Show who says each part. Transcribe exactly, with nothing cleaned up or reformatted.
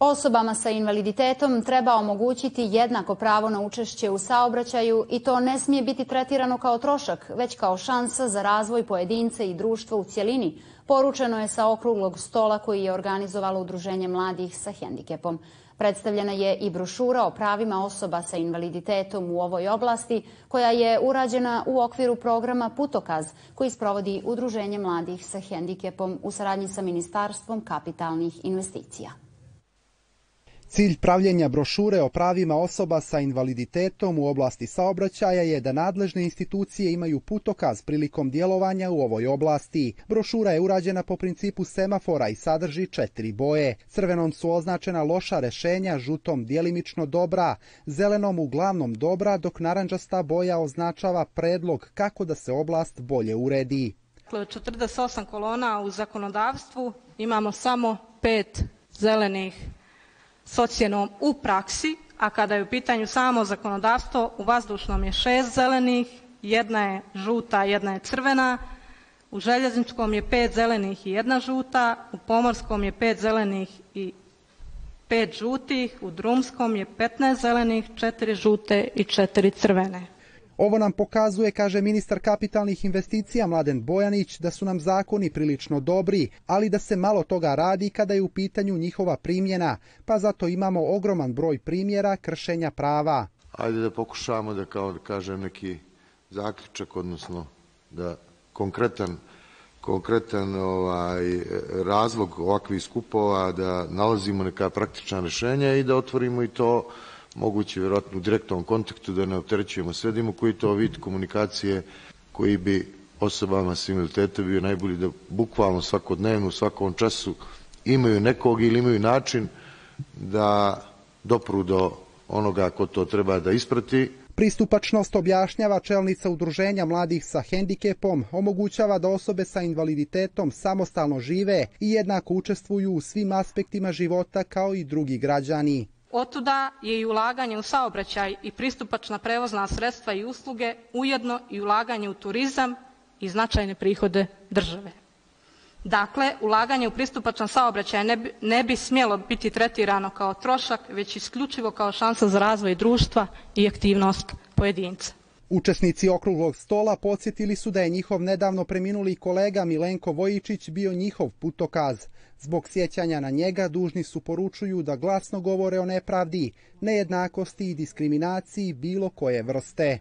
Speaker 1: Osobama sa invaliditetom treba omogućiti jednako pravo na učešće u saobraćaju i to ne smije biti tretirano kao trošak, već kao šansa za razvoj pojedinca i društva u cjelini, poručeno je sa okruglog stola koji je organizovalo Udruženje mladih sa hendikepom. Predstavljena je i brošura o pravima osoba sa invaliditetom u ovoj oblasti, koja je urađena u okviru programa Putokaz, koji sprovodi Udruženje mladih sa hendikepom u saradnji sa Ministarstvom kapitalnih investicija.
Speaker 2: Cilj pravljenja brošure o pravima osoba sa invaliditetom u oblasti saobraćaja je da nadležne institucije imaju putokaz prilikom djelovanja u ovoj oblasti. Brošura je urađena po principu semafora i sadrži četiri boje. Crvenom su označena loša rešenja, žutom djelimično dobra, zelenom uglavnom dobra, dok narandžasta boja označava predlog kako da se oblast bolje uredi.
Speaker 3: Od četrdeset osam kolona u zakonodavstvu imamo samo pet zelenih s ocjenom u praksi, a kada je u pitanju samo zakonodavstvo, u vazdušnom je šest zelenih, jedna je žuta, jedna je crvena, u željezničkom je pet zelenih i jedna žuta, u pomorskom je pet zelenih i pet žutih, u drumskom je petnaest zelenih, četiri žute i četiri crvene.
Speaker 2: Ovo nam pokazuje, kaže ministar kapitalnih investicija Mladen Bojanić, da su nam zakoni prilično dobri, ali da se malo toga radi kada je u pitanju njihova primjena, pa zato imamo ogroman broj primjera kršenja prava.
Speaker 4: Ajde da pokušamo da, kao da kažem, neki zaključak, odnosno da konkretan, konkretan ovaj, razlog ovakvih skupova, da nalazimo neka praktična rješenja i da otvorimo i to moguće vjerojatno u direktnom kontaktu, da ne opterećujemo sve, da imamo koji to vid komunikacije koji bi osobama s invaliditetom bio najbolji, da bukvalno svakodnevno, u svakom času imaju nekog ili imaju način da dopru do onoga ko to treba da isprati.
Speaker 2: Pristupačnost, objašnjava čelnica Udruženja mladih sa hendikepom, omogućava da osobe sa invaliditetom samostalno žive i jednako učestvuju u svim aspektima života kao i drugi građani.
Speaker 3: Otuda je i ulaganje u saobraćaj i pristupačna prevozna sredstva i usluge, ujedno i ulaganje u turizam i značajne prihode države. Dakle, ulaganje u pristupačan saobraćaj ne bi, ne bi smjelo biti tretirano kao trošak, već isključivo kao šansa za razvoj društva i aktivnost pojedinca.
Speaker 2: Učesnici okruglog stola podsjetili su da je njihov nedavno preminuli kolega Milenko Vojičić bio njihov putokaz. Zbog sjećanja na njega dužni su poručuju da glasno govore o nepravdi, nejednakosti i diskriminaciji bilo koje vrste.